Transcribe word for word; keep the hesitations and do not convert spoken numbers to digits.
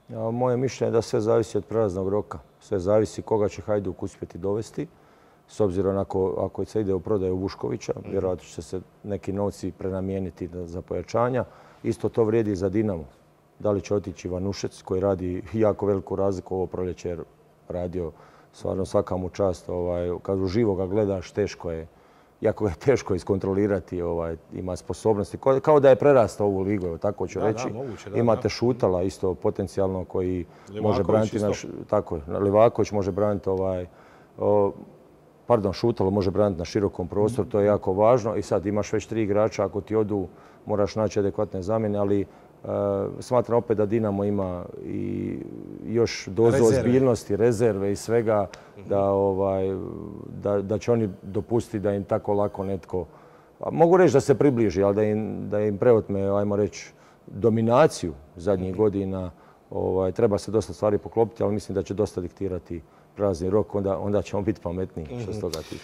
Moje mišljenje je da sve zavisi od prelaznog roka. Sve zavisi koga će Hajduk uspjeti dovesti. S obzirom ako, ako se ide u prodaju Vuškovića, vjerojatno će se neki novci prenamijeniti za pojačanja. Isto to vrijedi i za Dinamo. Da li će otići Ivanušec koji radi jako veliku razliku ovo proljeće jer radio stvarno svaka mu čast. Ovaj, kad uživo ga gledaš, teško je. Jako je teško iskontrolirati, ovaj, ima sposobnosti. Kao da je prerastao ovu ligu, evo, tako ću da, reći. Da, moguće, da, Imate da. Šutala isto potencijalno koji Livaković može braniti naš, tako je, Livaković može braniti ovaj, o, pardon, Šutalo može braniti na širokom prostoru, to je jako važno. I sad imaš već tri igrača, ako ti odu moraš naći adekvatne zamjene, ali e, smatram opet da Dinamo ima i još dozu rezerve. ozbiljnosti, rezerve i svega, da, ovaj, da, da će oni dopustiti da im tako lako netko, mogu reći da se približi, ali da im, da im preotme, ajmo reći, dominaciju zadnjih godina. Ovaj, treba se dosta stvari poklopiti, ali mislim da će dosta diktirati prelazni rok, onda, onda ćemo biti pametniji što se toga tiče.